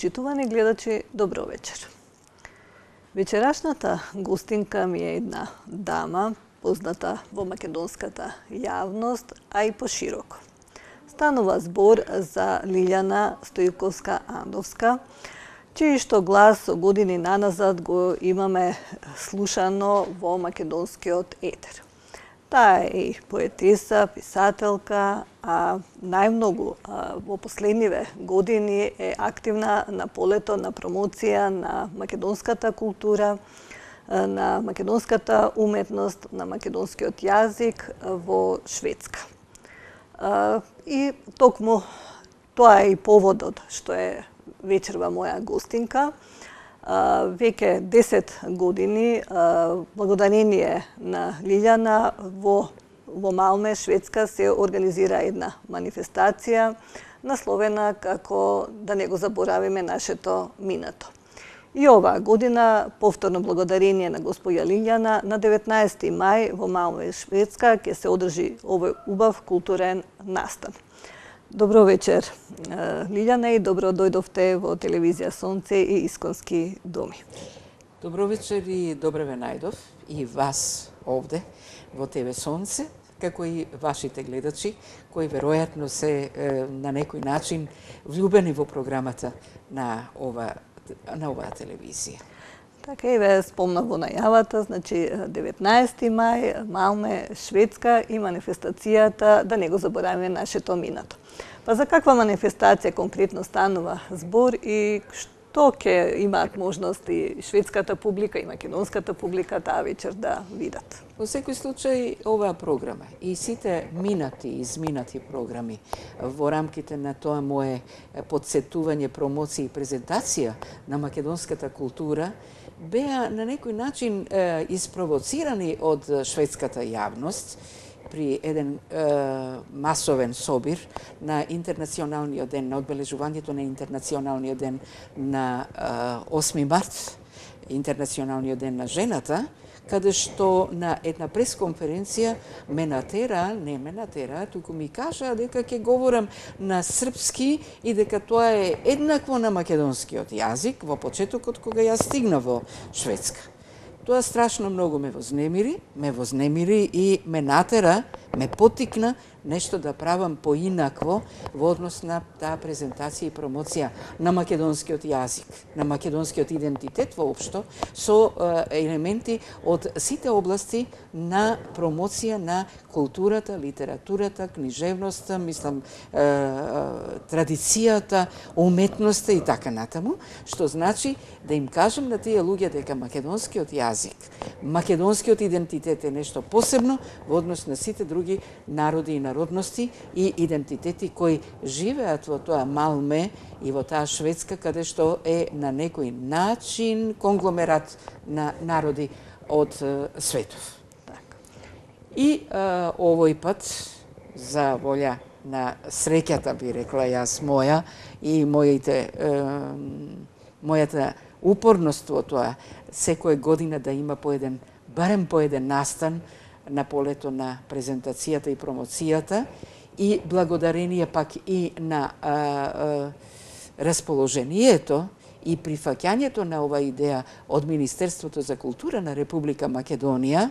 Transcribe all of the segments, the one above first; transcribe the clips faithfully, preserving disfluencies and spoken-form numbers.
Почитувани гледачи, добро вечер. Вечерашната гостинка ми е една дама, позната во македонската јавност, а и пошироко. Станува збор за Лилјана Стојковска-Андовска, чиј што глас со години наназад го имаме слушано во македонскиот етер. Таа е и поетеса, писателка, а најмногу а, во последниве години е активна на полето на промоција на македонската култура, на македонската уметност, на македонскиот јазик во Шведска. И токму тоа е и поводот што е вечерва моја гостинка. Веќе десет години, благодарение на Лилјана, во, во Малме, Шведска, се организира една манифестација насловена како да не го заборавиме нашето минато. И оваа година, повторно благодарение на госпоја Лилјана, на деветнаесети мај во Малме, Шведска, ќе се одржи овој убав културен настан. Добро вечер, Лилјана, и добро дојдовте во телевизија Сонце и Исконски доми. Добро вечер и добре ве најдов и вас овде во ТВ Сонце, како и вашите гледачи, кои веројатно се е, на некој начин влюбени во програмата на ова на оваа телевизија. Така и ве спомнав во најавата, значи деветнаесети мај, Малме, Шведска и манифестацијата да не го заборавиме нашето минато. Па за каква манифестација конкретно станува збор и што ќе имаат можност и шведската публика и македонската публика таа вечер да видат? Во секој случај, оваа програма и сите минати и изминати програми во рамките на тоа мое подсетување, промоција и презентација на македонската култура беа на некој начин е, испровоцирани од шведската јавност при еден е, масовен собир на интернационалниот ден, на одбележувањето на интернационалниот ден на е, осми март, интернационалниот ден на жената, каде што на една пресконференција ме натера, не ме натера, туку ми кажа дека ќе говорам на српски и дека тоа е еднакво на македонскиот јазик во почетокот кога ја стигна во Шведска. Тоа страшно многу ме вознемири, ме вознемири и ме натера, ме потикна нешто да правам поинакво во однос на таа презентација и промоција на македонскиот јазик, на македонскиот идентитет воопшто, со е, елементи од сите области на промоција на културата, литературата, книжевноста, мислам, е, е, традицијата, уметноста и така натаму, што значи да им кажам на тие луѓе дека македонскиот јазик, македонскиот идентитет е нешто посебно во однос на сите други народи и народности и идентитети кои живеат во тоа Малме и во таа Шведска, каде што е на некој начин конгломерат на народи од светов. И а, овој пат, за волја на среќата, би рекла јас моја, и моите, е, мојата упорност во тоа, секоја година да има по еден, барем по еден настан на полето на презентацијата и промоцијата, и благодарение пак и на а, а, расположението и прифаќањето на ова идеја од Министерството за култура на Република Македонија,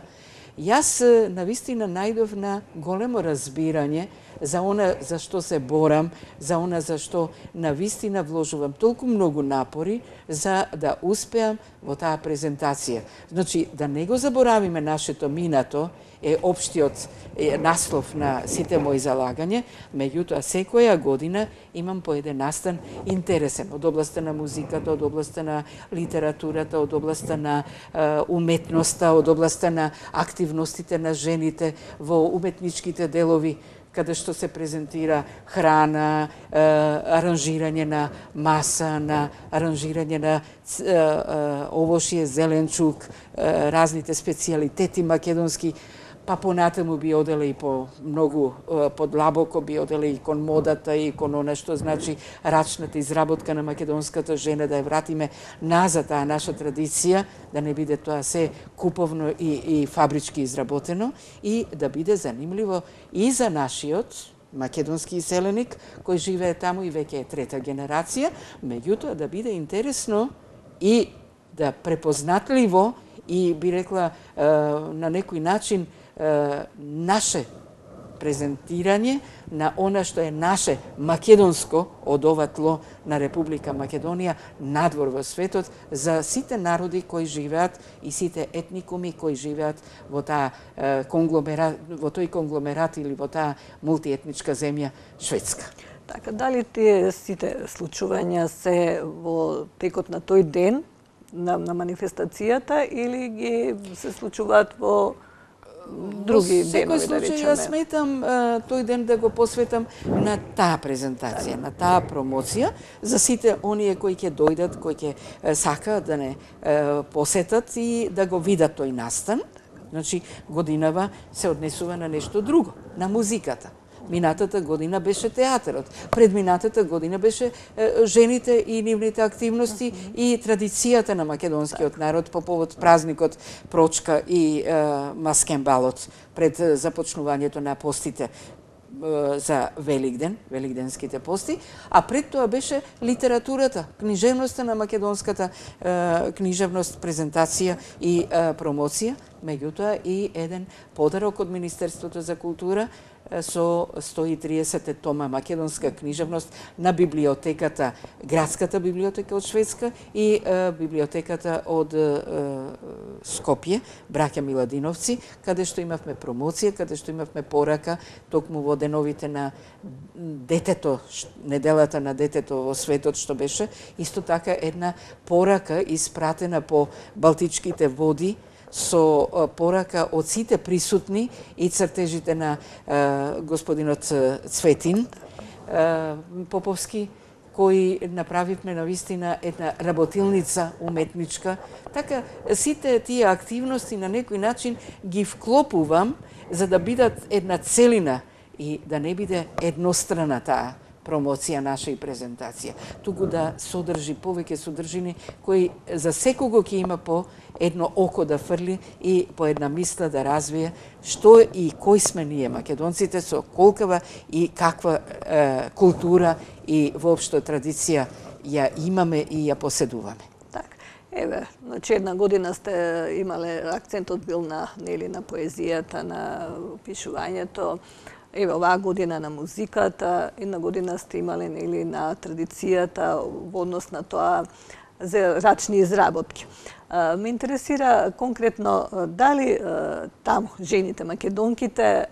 јас навистина најдов на големо разбирање за она за што се борам, за она за што навистина вложувам толку многу напори за да успеам во таа презентација. Значи, да не го заборавиме нашето минато, е општиот е, наслов на сите мои залагања, меѓутоа секоја година имам по еден настан интересен од областа на музиката, од областа на литературата, од областа на е, уметноста, од областа на активностите на жените во уметничките делови, каде што се презентира храна, е, аранжирање на маса, на аранжирање на е, е, овошје, зеленчук, е, разните специјалитети македонски, па понатаму би оделе и по многу подлабоко би оделе и кон модата и кон она што значи рачната изработка на македонската жена, да ја вратиме назад таа наша традиција, да не биде тоа се куповно и, и фабрички изработено, и да биде занимливо и за нашиот македонски иселеник кој живее таму и веќе е трета генерација, меѓутоа да биде интересно и да препознатливо и би рекла на некој начин наше презентирање на она што е наше македонско од ова тло на Република Македонија надвор во светот за сите народи кои живеат и сите етникуми кои живеат во таа конгломерат, во тој конгломерат или во таа мултиетничка земја Шведска. Така, дали тие сите случувања се во текот на тој ден на, на манифестацијата или ги се случуваат во други денови, да речеме? Јас сметам тој ден да го посветам на таа презентација, на таа промоција, за сите оние кои ќе дојдат, кои ќе сакаат да не посетат и да го видат тој настан. Значи, годинава се однесува на нешто друго, на музиката. Минатата година беше театарот, предминатата година беше е, жените и нивните активности и традицијата на македонскиот народ по повод празникот Прочка и е, Маскенбалот пред започнувањето на постите за Великден, великденските пости, а пред тоа беше литературата, книжевноста на македонската е, книжевност, презентација и е, промоција, меѓутоа и еден подарок од Министерството за култура со сто и триесет тома македонска книжевност на библиотеката, градската библиотека од Шведска и е, библиотеката од е, Скопје, браќа Миладиновци, каде што имавме промоција, каде што имавме порака токму во деновите на детето, неделата на детето во светот што беше, исто така една порака испратена по Балтичките води со порака од сите присутни и цртежите на е, господинот Цветин е, Поповски, кои направивме навистина една работилница уметничка. Така, сите тие активности на некој начин ги вклопувам за да бидат една целина и да не биде еднострана таа промоција наша и презентација, туку да содржи повеќе содржини кои за секого ќе има по едно око да фрли и по една мисла да развие што и кои сме ние македонците, со колкава и каква е, култура и воопшто традиција ја имаме и ја поседуваме. Так, еве, значи една година сте имале, акцентот бил на, нели, на поезијата, на пишувањето. Еве, оваа година на музиката, една година сте имале, нели, на традицијата во однос на тоа за рачни изработки. Ме интересира конкретно дали таму жените македонките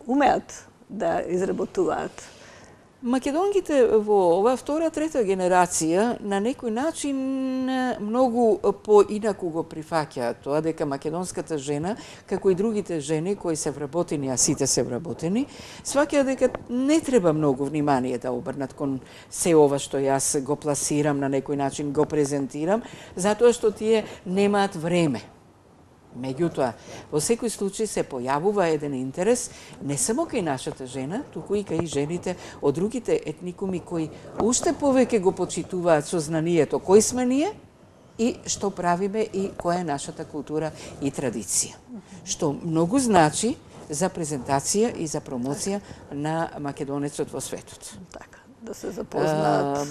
умеат да изработуваат? Македонките во оваа втора, трета генерација на некој начин многу поинаку го прифаќаат тоа дека македонската жена, како и другите жени кои се вработени, а сите се вработени, сваќаат дека не треба многу внимание да обрнат кон се ова што јас го пласирам, на некој начин го презентирам, затоа што тие немаат време. Меѓутоа, во секој случај се појавува еден интерес не само кај нашата жена, туку и кај жените од другите етникуми кои уште повеќе го почитуваат сознанието кои сме ние и што правиме и која е нашата култура и традиција. Што многу значи за презентација и за промоција на македонецот во светот. Така, да се запознаат.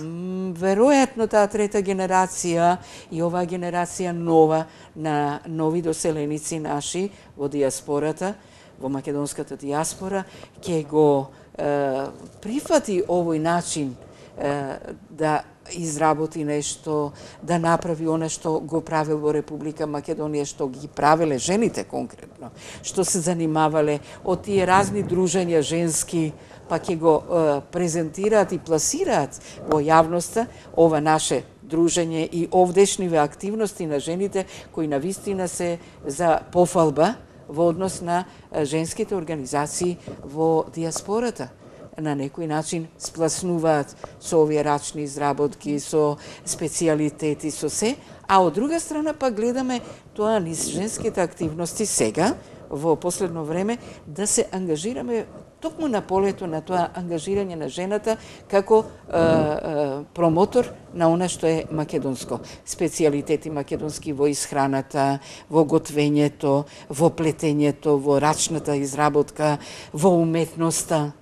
Веројатно таа трета генерација и оваа генерација нова на нови доселеници наши во диаспората, во македонската диаспора, ќе го е, прифати овој начин е, да изработи нешто, да направи она што го правил во Република Македонија, што ги правеле жените конкретно, што се занимавале од тие разни дружења женски, па ќе го е, презентираат и пласираат во јавноста ова наше дружење и овдешниве активности на жените кои навистина се за пофалба во однос на женските организации во диаспората. На некој начин спласнуваат со овие рачни изработки, со специјалитети, со се, а од друга страна па гледаме тоа низ женските активности сега, во последно време, да се ангажираме токму на полето на тоа ангажирање на жената како е, е, промотор на она што е македонско. Специјалитети македонски во исхраната, во готвењето, во плетењето, во рачната изработка, во уметноста.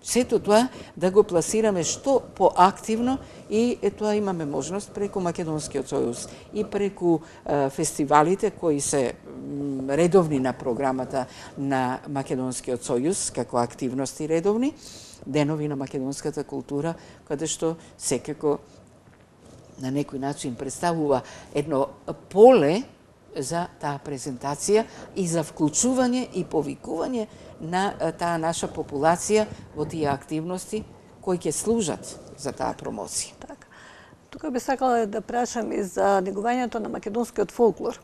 Сето тоа да го пласираме што поактивно и е тоа имаме можност преку Македонскиот сојуз и преку е, фестивалите кои се м, редовни на програмата на Македонскиот сојуз како активности редовни, денови на македонската култура, каде што секако на некој начин представува едно поле за таа презентација и за вклучување и повикување на таа наша популација во тие активности кои ќе служат за таа промоција. Така. Тука би сакала да прашам и за негувањето на македонскиот фолклор.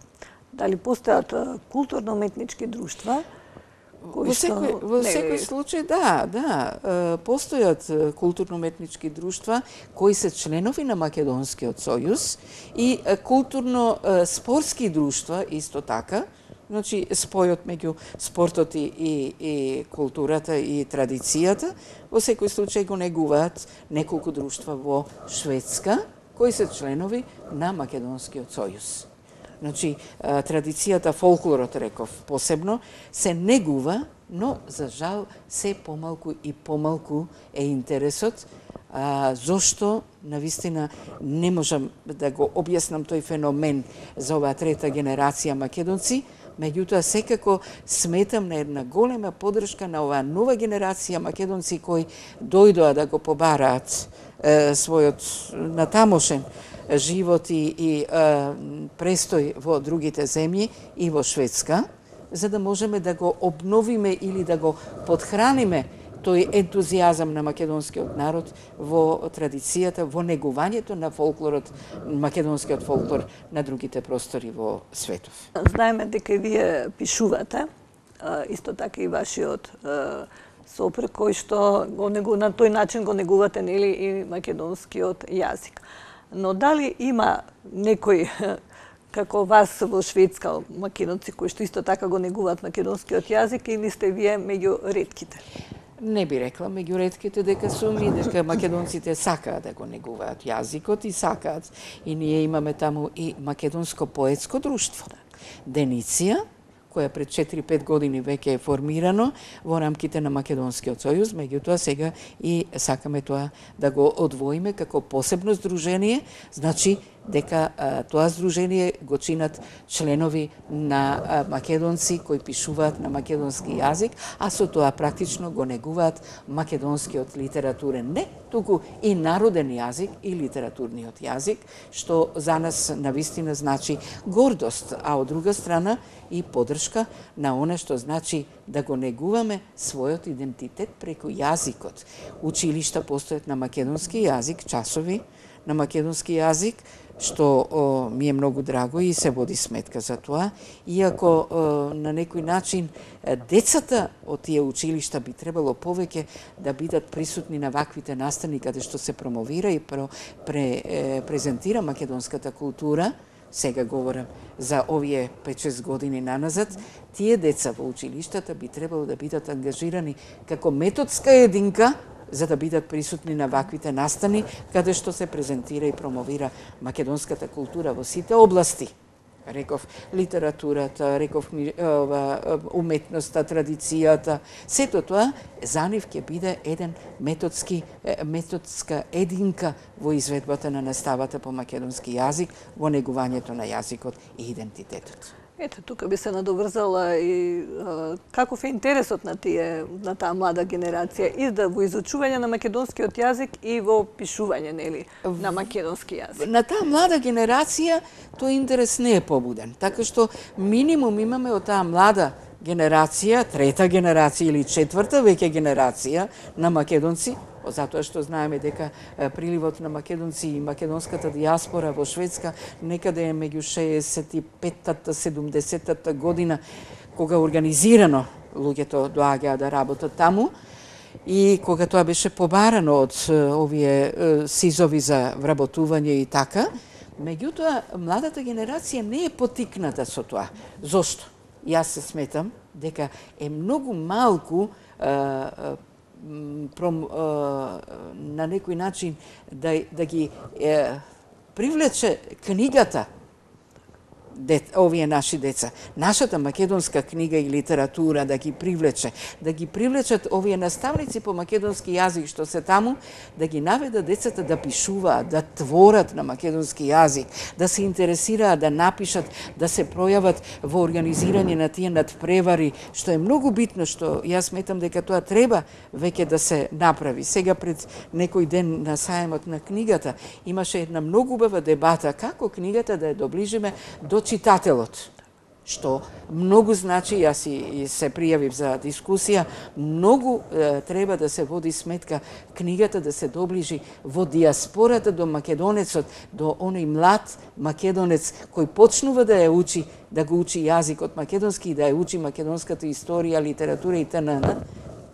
Дали постојат културно-уметнички друштва? Во секој, во секој случај, да, да, постојат културно-уметнички друштва кои се членови на Македонскиот сојуз и културно-спортски друштва исто така. Значи, спојот меѓу спортот и, и, и културата и традицијата, во секој случај го негуваат неколку друштва во Шведска, кои се членови на Македонскиот сојуз. Значи, традицијата, фолклорот, реков, посебно, се негува, но, за жал, се помалку и помалку е интересот, а, зошто, навистина, не можам да го објаснам тој феномен за оваа трета генерација македонци, меѓутоа секако сметам на една голема поддршка на оваа нова генерација македонци кои дојдоа да го побараат е, својот натамошен живот и, и е, престој во другите земји и во Шведска, за да можеме да го обновиме или да го подхраниме тој ентузијазам на македонскиот народ во традицијата, во негувањето на фолклорот, македонскиот фолклор на другите простори во светов. Знаеме дека и вие пишувате, исто така и вашиот сопруг, кој што го негу, на тој начин го негувате, нели, и македонскиот јазик. Но дали има некој како вас во Шведска македонци кои што исто така го негуваат македонскиот јазик или сте вие меѓу ретките? Не би рекла меѓу ретките дека сум и дека македонците сакаат да го негуваат јазикот и сакаат. И ние имаме таму и македонско поетско друштво. Дениција, која пред четири-пет години веќе е формирано во рамките на Македонскиот сојуз, меѓутоа сега и сакаме тоа да го одвоиме како посебно здружение, значи дека а, тоа здружение го чинат членови на а, македонци кои пишуваат на македонски јазик, а со тоа практично го негуваат македонскиот литературен, не туку и народен јазик и литературниот јазик, што за нас навистина значи гордост, а од друга страна и поддршка на оно што значи да го негуваме својот идентитет преку јазикот. Училишта постојат на македонски јазик, часови на македонски јазик, што о, ми е многу драго и се води сметка за тоа, иако о, на некој начин децата од тие училишта би требало повеќе да бидат присутни на ваквите настани каде што се промовира и про, пре, е, презентира македонската култура. Сега говорам за овие пет-шест години наназад, тие деца во училиштата би требало да бидат ангажирани како методска единка за да бидат присутни на ваквите настани, каде што се презентира и промовира македонската култура во сите области. Реков литературата, реков ова, уметноста, традицијата, сето тоа за нив ќе биде еден методски, методска единка во изведбата на наставата по македонски јазик, во негувањето на јазикот и идентитетот. Ето, тука би се надоврзала и а, каков е интересот на тие, на таа млада генерација и да во изучување на македонскиот јазик и во пишување, нели, на македонски јазик. На таа млада генерација тој интерес не е побуден, така што минимум имаме од таа млада генерација, трета генерација или четврта веќе генерација на македонци, затоа што знаеме дека приливот на македонци и македонската дијаспора во Шведска некаде е меѓу шеесет и петта седумдесеттата година, кога организирано луѓето доаѓаа да работат таму и кога тоа беше побарано од овие сизови за вработување и така. Меѓутоа, младата генерација не е потикната со тоа. Зошто? Јас се сметам дека е многу малку Пром, е, на некој начин да, да ги е, привлече книгата дет, овие наши деца. Нашата македонска книга и литература да ги привлече, да ги привлечат овие наставници по македонски јазик што се таму, да ги наведат децата да пишуваат, да творат на македонски јазик, да се интересираат, да напишат, да се пројават во организирање на тие надпревари, што е многу битно, што јас сметам дека тоа треба веќе да се направи. Сега пред некој ден на сајмот на книгата имаше една многу убава дебата како книгата да ја доближиме до читателот, што многу значи, јас и, и се пријавив за дискусија, многу е, треба да се води сметка книгата да се доближи во диаспората до македонецот, до оној млад македонец кој почнува да ја учи, да го учи јазикот македонски и да ја учи македонската историја, литература и т.н.,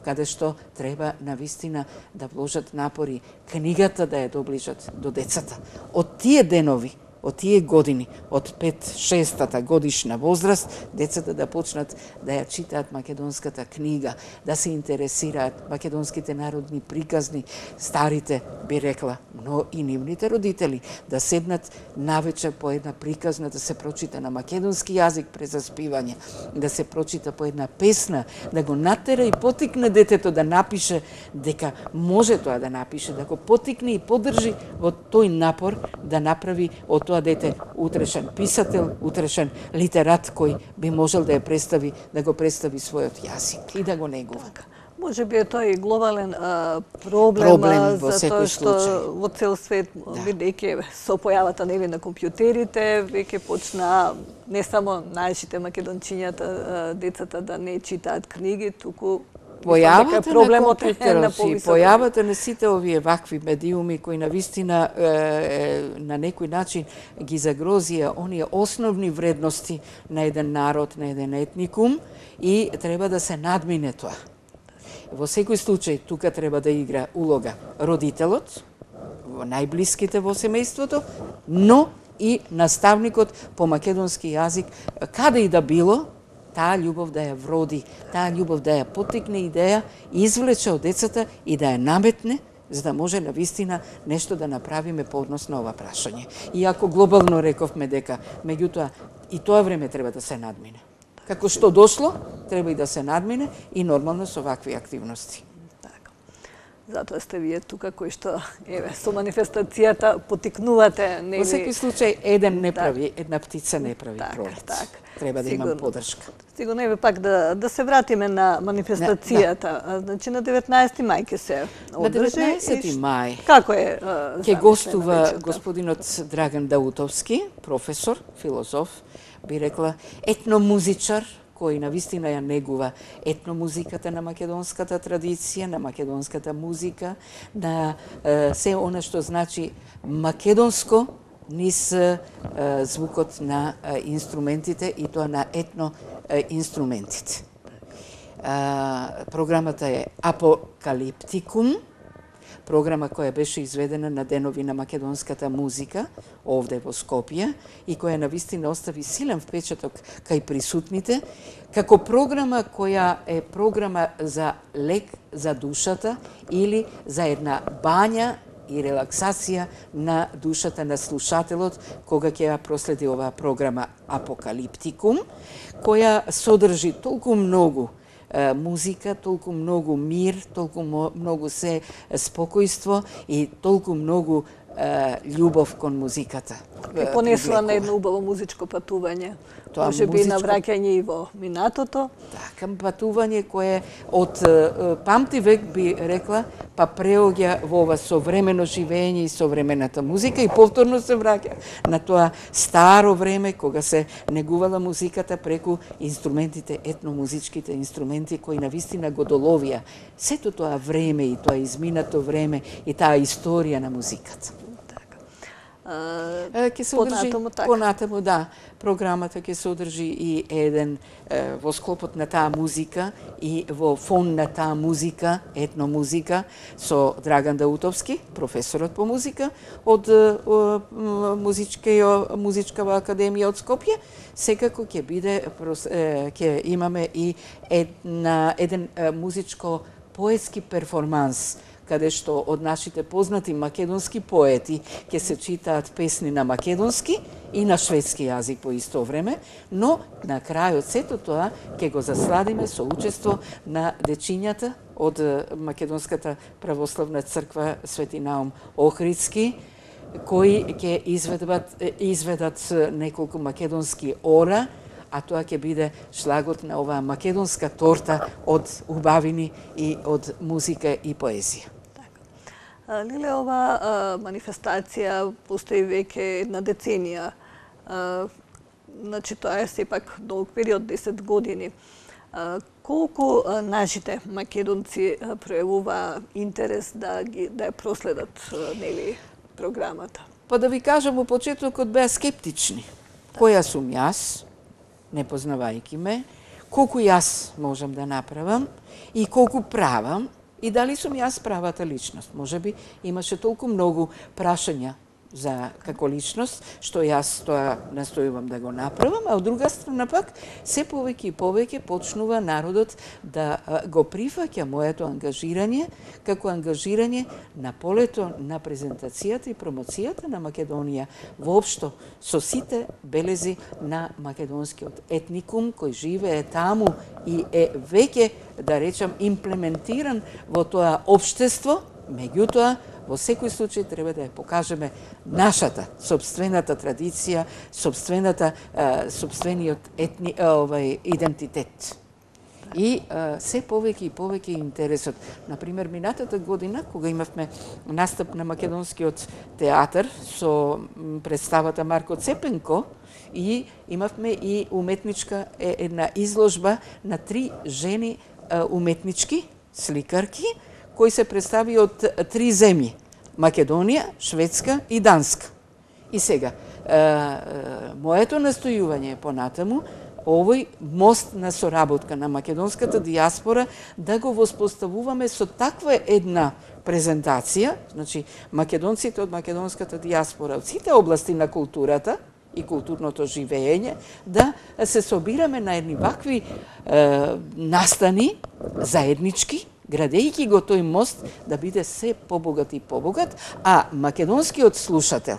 каде што треба навистина да вложат напори книгата да ја доближат до децата. Од тие денови, од тие години, од пет-шестата годишна возраст, децата да почнат да ја читаат македонската книга, да се интересираат македонските народни приказни, старите, би рекла, но и нивните родители, да седнат навечер по една приказна, да се прочита на македонски јазик през заспивање, да се прочита по една песна, да го натера и потикне детето да напише, дека може тоа да напише, да го потикне и поддржи во тој напор да направи од тоа дете утрешен писател, утрешен литерат кој би можел да ја представи, да го представи својот јазик и да го негува. Може би е тоа и глобален а, проблем, проблем во за тоа што случај. во цел свет, Да. бидејќи со појавата нели на компјутерите, веќе почна не само нашите македончињата, децата да не читаат книги, туку Појавата проблемот на е на компјутерот и повисок. појавата на сите овие вакви медиуми кои навистина е, е, на некој начин ги загрозија оние основни вредности на еден народ, на еден етникум и треба да се надмине тоа. Во секој случај тука треба да игра улога родителот, во најблиските во семејството, но и наставникот по македонски јазик, каде и да било, таа љубов да ја вроди, таа љубов да ја поттикне и да ја извлече од децата и да ја наметне, за да може навистина нешто да направиме по однос на ова прашање. Иако глобално рековме дека, меѓутоа, и тоа време треба да се надмине. Како што дошло, треба и да се надмине и нормално со вакви активности. Така. Затоа сте вие тука кои што еве со манифестацијата потикнувате нели. Во секој случај еден не прави, една птица не прави Так, пролет. так. Треба да имам Сигурно. поддршка. Сигурно еве пак да да се вратиме на манифестацијата. А, значи на деветнаесети мај ќе се На одржи. деветнаесети и ш- мај Како е? ќе гостува господинот Драган Даутовски, професор, филозоф, би рекла етномузичар, кој навистина ја негува етномузиката на македонската традиција, на македонската музика, на е, се она што значи македонско низ е, звукот на е, инструментите и тоа на етно е, инструментите. Е, програмата е Апокалиптикум, програма која беше изведена на денови на македонската музика овде во Скопје и која навистина остави силен впечаток кај присутните, како програма која е програма за лек за душата или за една бања и релаксација на душата на слушателот кога ќе ја проследи оваа програма Апокалиптикум, која содржи толку многу музика, толку многу мир, толку многу се спокојство и толку многу љубов кон музиката. Ке понесува на едно убаво музичко патување. Тоа Може би музичко- навраќање и во минатото. Така, патување кое од памти век би рекла, па преоѓа во ова современо живење и современата музика и повторно се враќа на тоа старо време кога се негувала музиката преку инструментите, етномузичките инструменти кои навистина го доловија сето тоа време и тоа изминато време и таа историја на музиката. А, Ќе се одржи понатаму така. понатаму, да, програмата ќе се одржи и еден е, во склопот на таа музика и во фон на таа музика, етномузика, со Драган Даутовски, професорот по музика од е, е, музичка, музичкава академија од Скопје, секако ќе биде прос- е, ќе имаме и една, еден е, музичко поетски перформанс каде што од нашите познати македонски поети ќе се читаат песни на македонски и на шведски јазик по исто време, но на крајот сето тоа ќе го засладиме со учество на дечињата од Македонската православна црква Свети Наум Охридски, кои ќе изведат, изведат неколку македонски ора, а тоа ќе биде шлагот на оваа македонска торта од убавини и од музика и поезија. Така. Лиле, ова манифестација постои веќе една деценија. Значи, тоа е сепак долг период, десет години. Колку нашите македонци пројавува интерес да ги да ја проследат, нели, програмата? Па да ви кажам, во почетокот беа скептични. Која сум јас, не познавајќи ме, колку јас можам да направам и колку правам и дали сум јас правата личност. Може би имаше толку многу прашања за како личност, што јас тоа настојувам да го направам, а од друга страна пак, се повеќе и повеќе почнува народот да го прифаќа моето ангажирање како ангажирање на полето на презентацијата и промоцијата на Македонија воопшто со сите белези на македонскиот етникум кој живее таму и е веќе, да речам, имплементиран во тоа општество, меѓутоа во секој случај треба да ја покажеме нашата собствената традиција, собствената собствениот етни овај идентитет. И а, се повеќе и повеќе интересот. Например, минатата година, кога имавме настап на македонскиот театар со представата Марко Цепенко, и имавме и уметничка една изложба на три жени а, уметнички, сликарки, кои се представи од три земји: Македонија, Шведска и Данска. И сега, е, е, моето настојување е понатаму овој мост на соработка на македонската дијаспора да го воспоставуваме со таква една презентација, значи македонците од македонската дијаспора од сите области на културата и културното живење, да се собираме на едни вакви е, настани заеднички, градејќи го тој мост да биде се побогат и побогат, а македонскиот слушател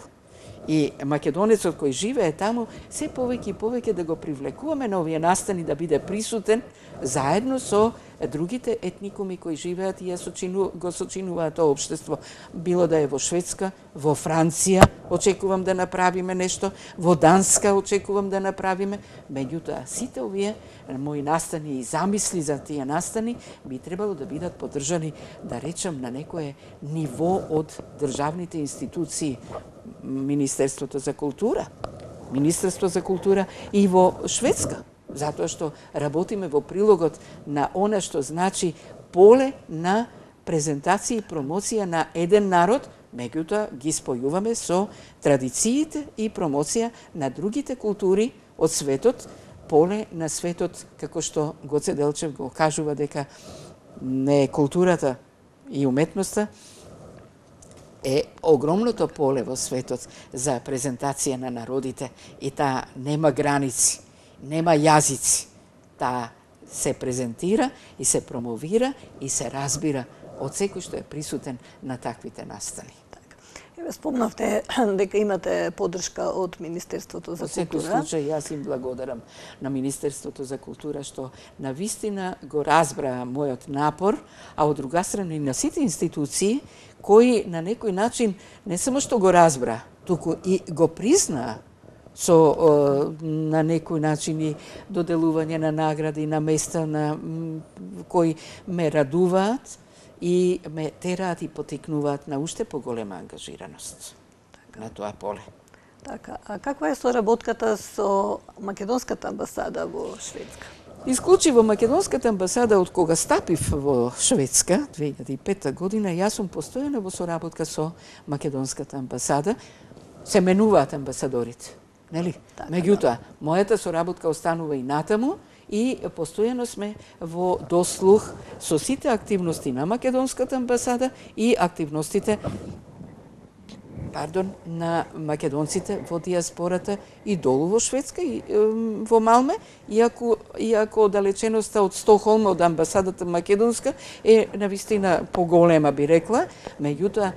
и македонецот кој живее таму се повеќе и повеќе да го привлекуваме на овие настани, да биде присутен заедно со другите етникуми кои живеат и ја сочину, го сочинуваат тоа општество. Било да е во Шведска, во Франција, очекувам да направиме нешто, во Данска очекувам да направиме, меѓутоа сите овие мои настани и замисли за тие настани би требало да бидат поддржани, да речам, на некое ниво од државните институции, Министерството за култура, Министерство за култура и во Шведска, затоа што работиме во прилогот на она што значи поле на презентација и промоција на еден народ, меѓутоа ги спојуваме со традициите и промоција на другите култури од светот, поле на светот, како што Гоце Делчев го кажува дека не е културата и уметноста, е огромното поле во светот за презентација на народите и таа нема граници, нема јазици. Таа се презентира и се промовира и се разбира од секој што е присутен на таквите настани. Еве, спомнавте дека имате поддршка од Министерството за култура. Во секој случај, јас им благодарам на Министерството за култура што на вистина го разбра мојот напор, а од друга страна и на сите институции кои на некој начин не само што го разбра, туку и го признаа со на некој начин и доделување на награди на места на кои ме радуваат и ме тераат и потикнуваат на уште поголема ангажираност така на тоа поле. Така, а каква е соработката со Македонската амбасада во Шведска? Исклучиво Македонската амбасада, од кога стапив во Шведска, две илјади и пета година, јас сум постојано во соработка со Македонската амбасада. Се менуваат амбасадорите, нели? Така, меѓутоа, мојата соработка останува и натаму и постојано сме во дослух со сите активности на Македонската амбасада и активностите пардон, на македонците во диаспората и долу во Шведска и е, во Малме, иако, иако далеченоста од Стокхолм, од амбасадата македонска е навистина поголема, би рекла, меѓутоа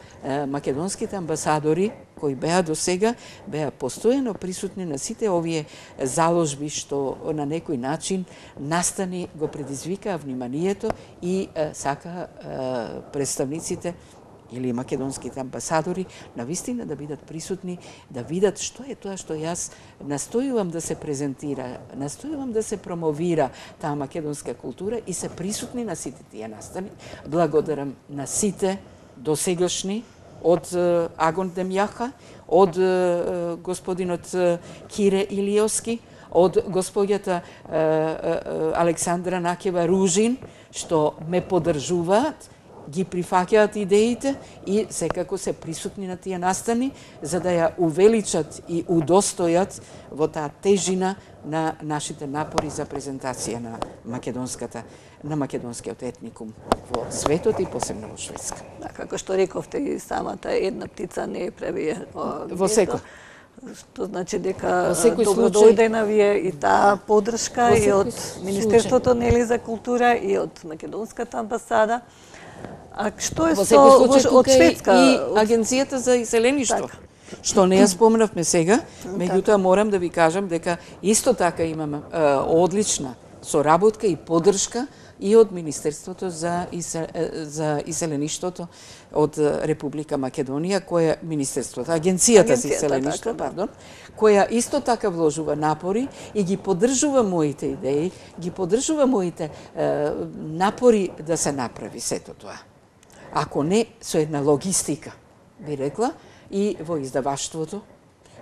македонските амбасадори кои беа до сега, беа постојано присутни на сите овие заложби што на некој начин настани го предизвикаа вниманието и е, сака е, представниците или македонските амбасадори навистина да бидат присутни, да видат што е тоа што јас настојувам да се презентира, настојувам да се промовира таа македонска култура и се присутни на сите тие настани. Благодарам на сите досегашни од Агон Демјаха, од господинот Кире Илиовски, од господјата Александра Накева Ружин, што ме поддржуваат, ги прифаќаат идеите и секако се присутни на тие настани, за да ја увеличат и удостојат во таа тежина на нашите напори за презентација на македонската на македонскиот етникум во светот и посебно во Шведска. Да, како што рековте и самата, една птица не прави во секој. Што значи дека добро дојде на вие и таа поддршка и од Министерството нели за култура и од македонската амбасада. А што е со од Шведска и Агенцијата за иселеништво? Так. Што не ја споменавме сега, меѓутоа морам да ви кажам дека исто така имаме е, одлична соработка и поддршка и од Министерството за, исел, за иселеништвото од Република Македонија, која Министерството, Агенцијата за иселеништво, така, пардон, која исто така вложува напори и ги поддржува моите идеи, ги поддржува моите е, напори да се направи сето тоа. Ако не со една логистика, би рекла, и во издаваштвото,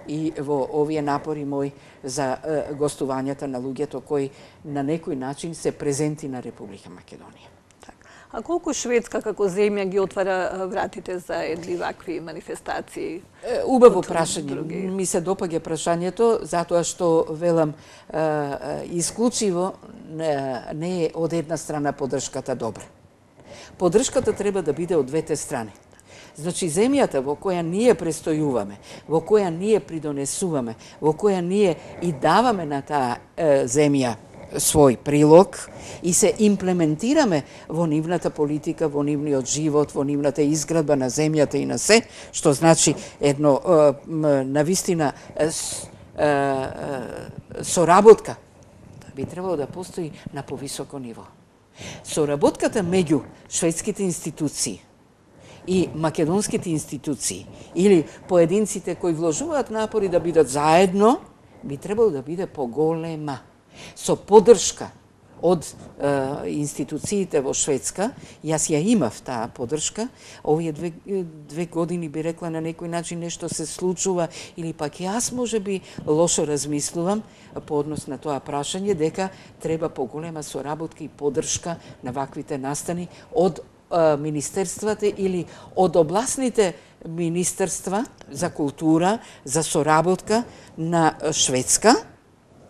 и во овие напори мои за е, гостувањата на луѓето кои на некој начин се презенти на Република Македонија. Так. А колку Шведска како земја ги отвара вратите за едни вакви манифестации? Е, убаво прашање. Ми се допаѓа прашањето, затоа што велам е, е, исклучиво не, не е од една страна поддршката добра. Поддршката треба да биде од двете страни. Значи, земјата во која ние престојуваме, во која ние придонесуваме, во која ние и даваме на таа е, земја свој прилог и се имплементираме во нивната политика, во нивниот живот, во нивната изградба на земјата и на се, што значи едно е, навистина е, е, соработка би требало да постои на повисоко ниво. Соработката меѓу шведските институции и македонските институции или поединците кои вложуваат напори да бидат заедно, би требало да биде поголема. Со поддршка од е, институциите во Шведска, јас ја имав таа поддршка, овие две, две години би рекла на некој начин нешто се случува или пак јас може би лошо размислувам по однос на тоа прашање дека треба поголема соработка и поддршка на ваквите настани од е, министерствата или од областните министерства за култура, за соработка на Шведска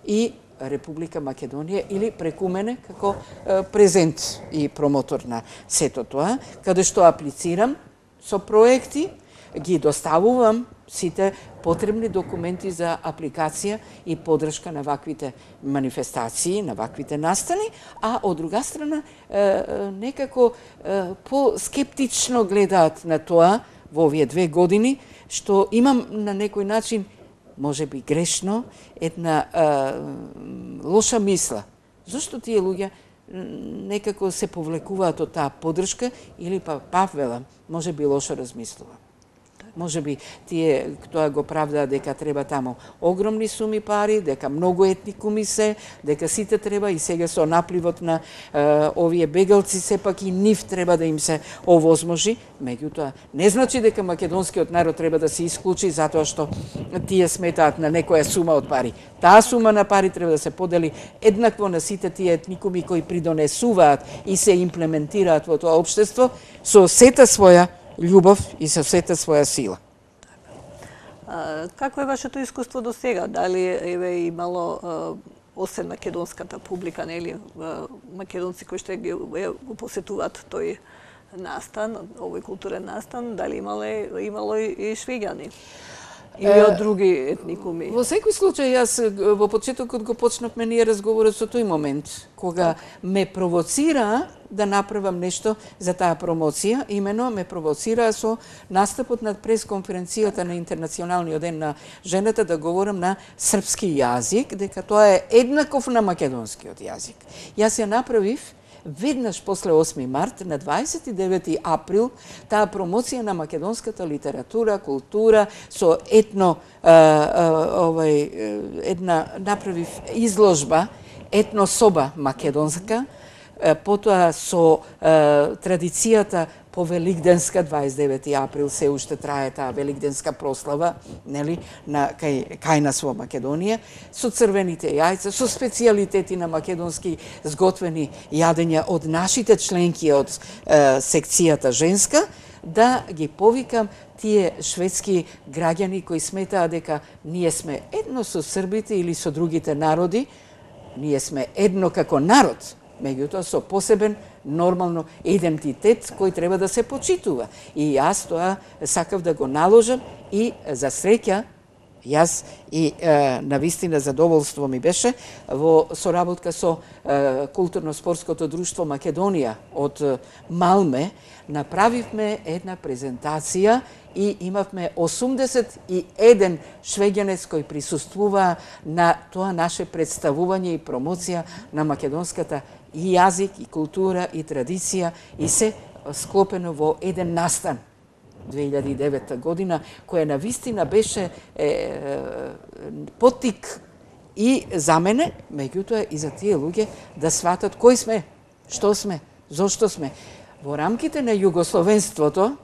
и Република Македонија или преку мене како е, презент и промотор на сето тоа, каде што аплицирам со проекти, ги доставувам сите потребни документи за апликација и поддршка на ваквите манифестации, на ваквите настани, а од друга страна е, е, некако е, по-скептично гледаат на тоа во овие две години, што имам на некој начин може би грешно, една а, лоша мисла. Зошто тие луѓе некако се повлекуваат од таа поддршка или па пак велам, може би лошо размислувам. Може би тие тоа го правдаат дека треба таму огромни суми пари, дека многу етникуми се, дека сите треба и сега со напливот на е, овие бегалци сепак и нив треба да им се овозможи, меѓутоа не значи дека македонскиот народ треба да се исклучи затоа што тие сметаат на некоја сума од пари. Таа сума на пари треба да се подели еднакво на сите тие етникуми кои придонесуваат и се имплементираат во тоа општество со сета своја љубов и со сета своја сила. А, какво е вашето искуство до сега? Дали еве имало а, освен македонската публика, нели македонци кои што ги го посетуваат тој настан, овој културен настан, дали имале, имало и швеѓани? Или од други етникуми? Во секој случај, јас во почетокот го почнавме ние разговорот со тој момент, кога ме провоцира да направам нешто за таа промоција, имено ме провоцира со настапот на пресконференцијата на Интернационалниот ден на жената да говорам на српски јазик, дека тоа е еднаков на македонскиот јазик. Јас ја направив веднаш после осми март, на дваесет и девети април, таа промоција на македонската литература, култура, со етно, а, а, овај, една, направив изложба, етнособа македонска, потоа со а, традицијата по Великденска, дваесет и девети април се уште трае таа Великденска прослава, нели, на кај кај нас во Македонија, со црвените јајца, со специјалитети на македонски сготвени јадења од нашите членки од е, секцијата женска, да ги повикам тие шведски граѓани кои сметаа дека ние сме едно со србите или со другите народи, ние сме едно како народ, меѓутоа со посебен нормално идентитет кој треба да се почитува. И јас тоа сакав да го наложам и за среќа јас и е, навистина задоволство ми беше во соработка со е, културно-спортското друштво Македонија од Малме направивме една презентација и имавме осумдесет и еден швеѓанец кој присуствува на тоа наше представување и промоција на македонската и јазик, и култура, и традиција, и се склопено во еден настан две илјади и девета година, која навистина беше е, е, потик и за мене, меѓутоа и за тие луѓе да сватат кои сме, што сме, зошто сме. Во рамките на југословенството,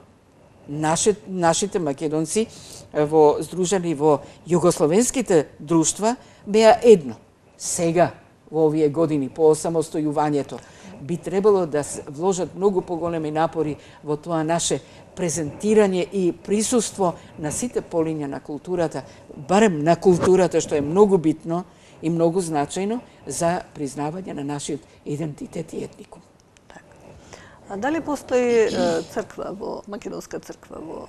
наши, нашите македонци во здружени во југословенските друштва беа едно. Сега, во овие години по осамостојувањето, би требало да вложат многу поголеми напори во тоа наше презентирање и присуство на сите полиња на културата, барем на културата, што е многу битно и многу значајно за признавање на нашиот идентитет и етникум. А дали постои црква во македонска црква во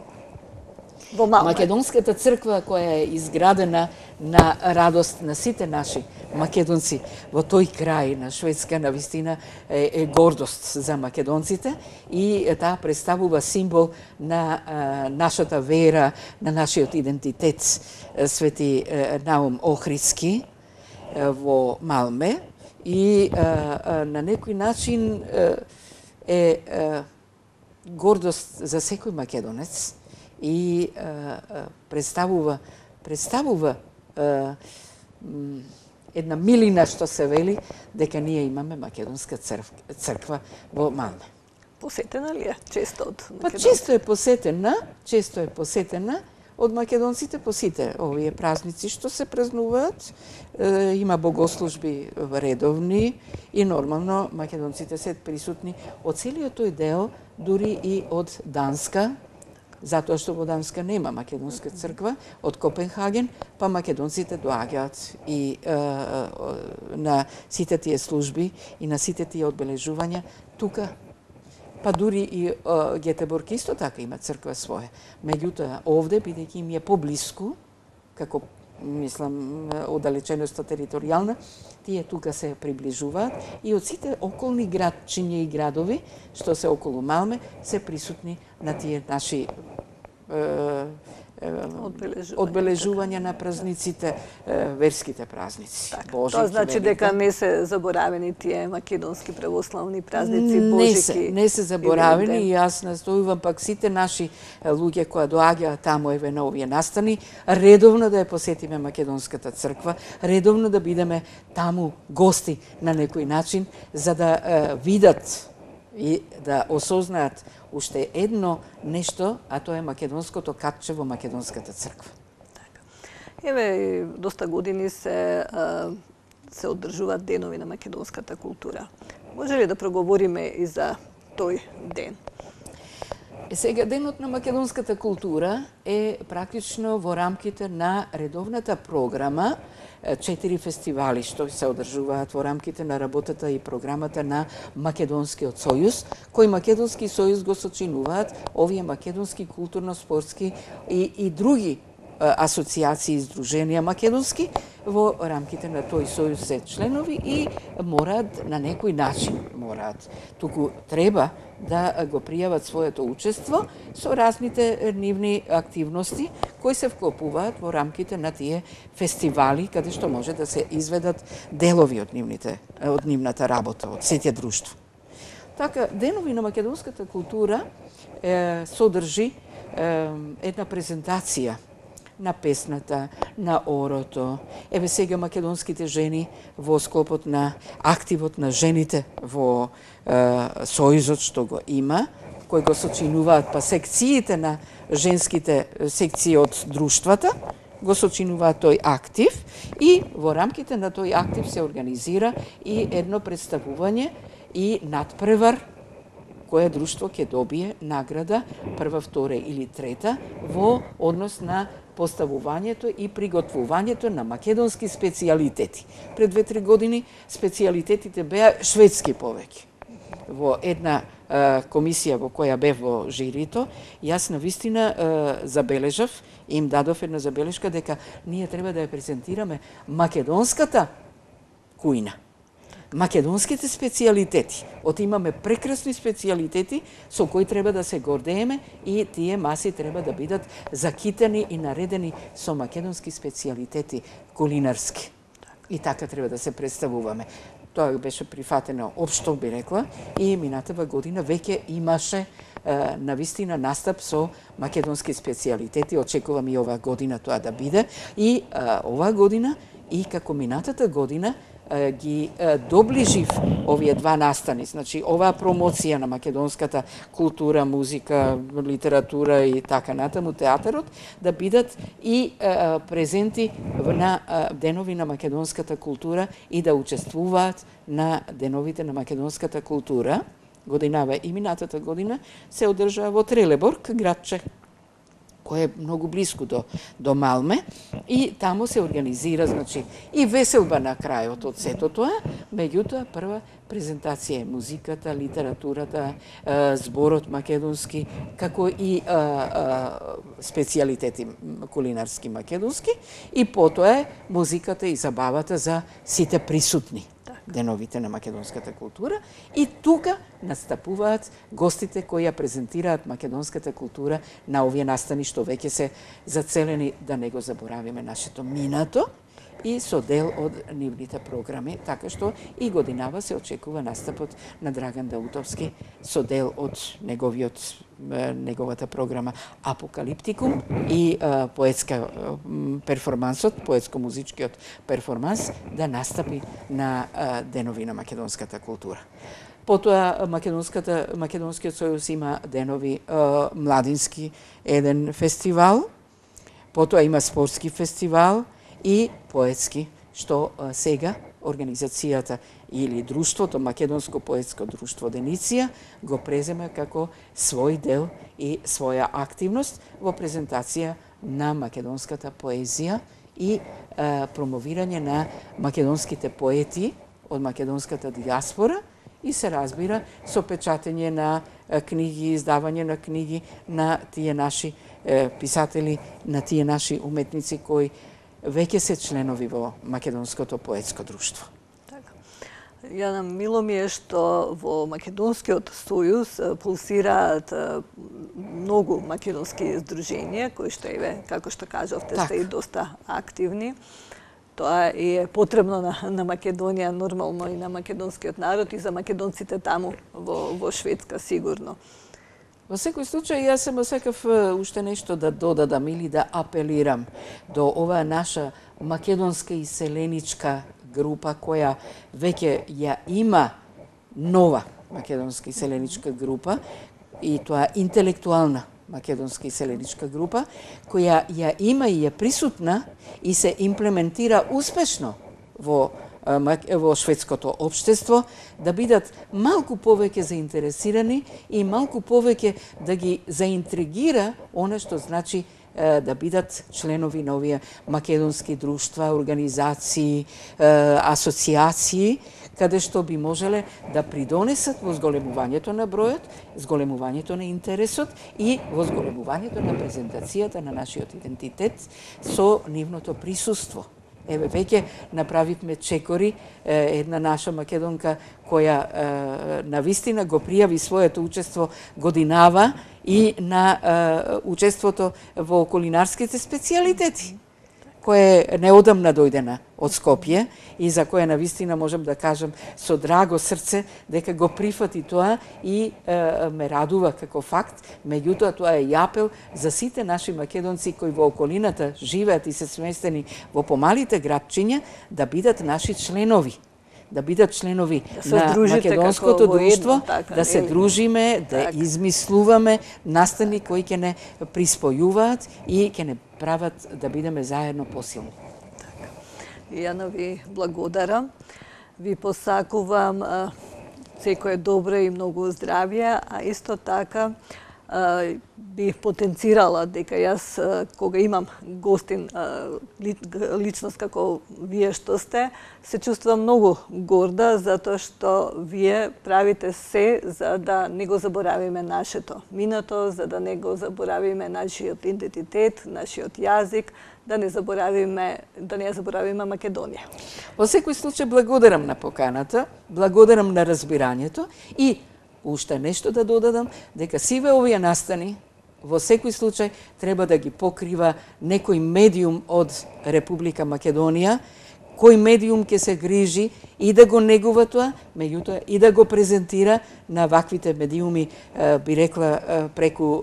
во Малме? Македонската црква која е изградена на радост на сите наши македонци во тој крај на Шведска, навистина е, е гордост за македонците и таа представува символ на а, нашата вера, на нашиот идентитет. Свети а, Наум Охридски а, во Малме и а, а, на некој начин а, е а, гордост за секој македонец и а, а, представува представува а, една милина што се вели дека ние имаме македонска црква, црква во Малме. Посетена ли е често од Па често е посетена, често е посетена од македонците по сите овие празници што се празнуваат. Е, има богослужби редовни и нормално македонците се присутни од целиот тој дел, дури и од Данска, затоа што во Данска нема македонска црква, од Копенхаген, па македонците доаѓаат и е, на сите тие служби и на сите тие одбележувања тука. Па дури и е, Гетеборг исто така има црква своја. Меѓутоа, овде, бидејќи им е поблиску, како, мислам, оддалеченоста територијална, тие тука се приближуваат и од сите околни градчиња и градови, што се околу Малме, се присутни на тие наши е, одбележувања, одбележувања на празниците, верските празници. Так, Божики, тоа значи Велика. дека не се заборавени тие македонски православни празници, Не Божики. се, не се заборавени и јас настојувам пак сите наши луѓе кои доаѓаат таму еве на овие настани, редовно да ја посетиме македонската црква, редовно да бидеме таму гости на некој начин, за да е, видат и да осознаат уште едно нешто, а тоа е македонското капче во македонската црква. Така. Еве, доста години се се одржуваат денови на македонската култура. Може ли да проговориме и за тој ден? Сега, денот на македонската култура е практично во рамките на редовната програма, четири фестивали што се одржуваат во рамките на работата и програмата на Македонскиот сојуз, кој Македонски сојуз го сочинуваат овие македонски културно-спортски и, и други асоциации и здруженија македонски во рамките на тој сојуз се членови и мораат на некој начин мораат. Туку треба да го пријават своето учество со разните нивни активности кои се вклопуваат во рамките на тие фестивали каде што може да се изведат делови од нивните од нивната работа од сите друштво. Така, денови на македонската култура е, содржи е, една презентација на песната, на орото. Еве сега македонските жени во склопот на активот на жените во е, сојузот што го има, кои го сочинуваат па секциите на женските секции од друштвата, го сочинуваат тој актив и во рамките на тој актив се организира и едно представување и надпревар кое друштво ќе добие награда прва, втора или трета во однос на поставувањето и приготвувањето на македонски специјалитети. Пред две-три години специјалитетите беа шведски повеќе. Во една е, комисија во која бев во жирито, јас на вистина е, забележав, им дадов една забелешка дека ние треба да ја презентираме македонската кујна. Македонските специјалитети. Од имаме прекрасни специјалитети со кои треба да се гордееме и тие маси треба да бидат закитени и наредени со македонски специјалитети кулинарски. И така треба да се представуваме. Тоа беше прифатено општо, би рекла, и минатава година веќе имаше е, навистина настап со македонски специјалитети. Очекувам и оваа година тоа да биде. И е, оваа година, и како минатата година, ги доближив овие два настани, значи оваа промоција на македонската култура, музика, литература и така натаму, театарот, да бидат и е, презенти на е, денови на македонската култура и да учествуваат на деновите на македонската култура. Годинава и минатата година се одржаа во Трелеборг, градче кој е многу близко до, до Малме, и таму се организира, значи, и веселба на крајот од сето тоа, меѓутоа прва презентација е музиката, литературата, зборот македонски, како и а, а, специјалитети кулинарски македонски, и потоа е музиката и забавата за сите присутни деновите на македонската култура, и тука настапуваат гостите кои ја презентираат македонската култура на овие настани што веќе се зацелени да не го заборавиме нашето минато и со дел од нивните програми, така што и годинава се очекува настапот на Драган Даутовски со дел од неговиот неговата програма Апокалиптикум и е, поетска е, перформансот, поетско-музичкиот перформанс да настапи на е, денови на македонската култура. Потоа македонската македонскиот сојуз има денови е, младински еден фестивал, потоа има спортски фестивал и поетски, што е, сега организацијата или друштвото, Македонско поетско друштво Дениција, го презема како свој дел и своја активност во презентација на македонската поезија и е, промовирање на македонските поети од македонската диаспора и се разбира со печатење на е, книги, издавање на книги на тие наши е, писатели, на тие наши уметници кои веќе се членови во Македонското поетско друштво. Јана, мило ми е што во Македонскиот сојуз пулсираат многу македонски здруженија, кои што еве, како што кажавте, так. сте и доста активни. Тоа е потребно на, на Македонија, нормално и на македонскиот народ и за македонците таму во, во Шведска сигурно. Во секој случај, јас само сакав уште нешто да додадам или да апелирам до оваа наша македонска иселеничка група која веќе ја има нова македонска иселеничка група, и тоа интелектуална македонска иселеничка група, која ја има и е присутна и се имплементира успешно во во шведското општество, да бидат малку повеќе заинтересирани и малку повеќе да ги заинтригира она што значи да бидат членови на овие македонски друштва, организации, асоциации, каде што би можеле да придонесат во зголемувањето на бројот, зголемувањето на интересот и во зголемувањето на презентацијата на нашиот идентитет со нивното присуство. Еве, веќе направивме чекори, една наша македонка која на вистина го пријави своето учество годинава и на учеството во кулинарските специјалитети, кое неодамна дојдена од Скопје и за кое на вистина можам да кажам со драго срце дека го прифати тоа и е, ме радува како факт. Меѓутоа, тоа е апел за сите наши македонци кои во околината живеат и се сместени во помалите градчиња да бидат наши членови. Да бидат членови да на македонското друштво, така, да се или? дружиме, да така. измислуваме настани кои ќе не приспојуваат и ќе не прават да бидеме заедно посилни. Така. Јана, ви благодарам. Ви посакувам а, секое добро и многу здравје, а исто така а, бих потенцирала дека јас, а, кога имам гостин, а, ли, личност како вие што сте, се чувствувам многу горда, затоа што вие правите се за да не го заборавиме нашето минато, за да не го заборавиме нашиот идентитет, нашиот јазик, да не заборавиме, да не ја заборавиме Македонија. Во секој случај благодарам на поканата, благодарам на разбирањето и уште нешто да додадам, дека сиве овие настани во секој случај треба да ги покрива некој медиум од Република Македонија, кој медиум ќе се грижи и да го негува тоа, меѓутоа и да го презентира на ваквите медиуми, би рекла, преку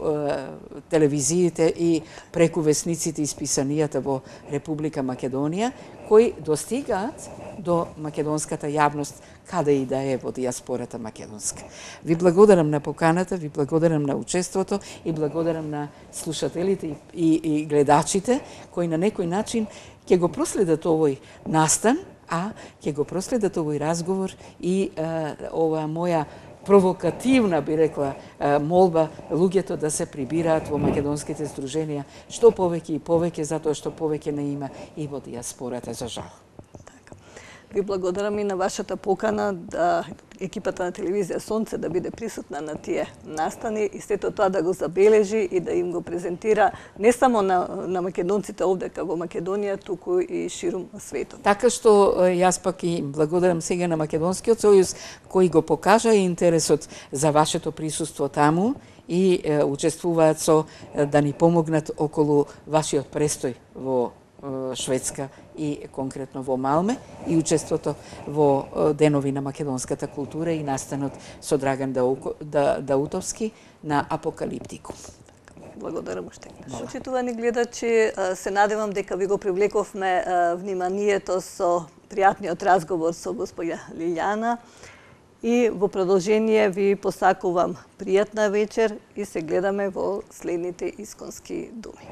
телевизиите и преку весниците и списанијата во Република Македонија, кои достигаат до македонската јавност, каде и да е во диаспората македонска. Ви благодарам на поканата, ви благодарам на учеството и благодарам на слушателите и, и, и гледачите, кои на некој начин ќе го проследат овој настан, а ќе го проследат овој разговор и а, ова моја провокативна, би рекла, молба луѓето да се прибираат во македонските здруженија што повеќе и повеќе, затоа што повеќе не има и во диаспората, за жал. Ви благодарам и на вашата покана да екипата на телевизија Сонце да биде присутна на тие настани и сето тоа да го забележи и да им го презентира не само на, на македонците овдека во Македонија, туку и ширум светот. Така што јас пак и благодарам сега на Македонскиот сојуз кој го покажа интересот за вашето присуство таму и е, учествуваат со да ни помогнат околу вашиот престој во Шведска и конкретно во Малме и учеството во денови на македонската култура и настанот со Драган Даутовски на Апокалиптику. Благодарам уште. Почитувани гледачи, се надевам дека ви го привлековме вниманието со пријатниот разговор со госпоѓа Лилјана и во продолжение ви посакувам пријатна вечер и се гледаме во следните исконски думи.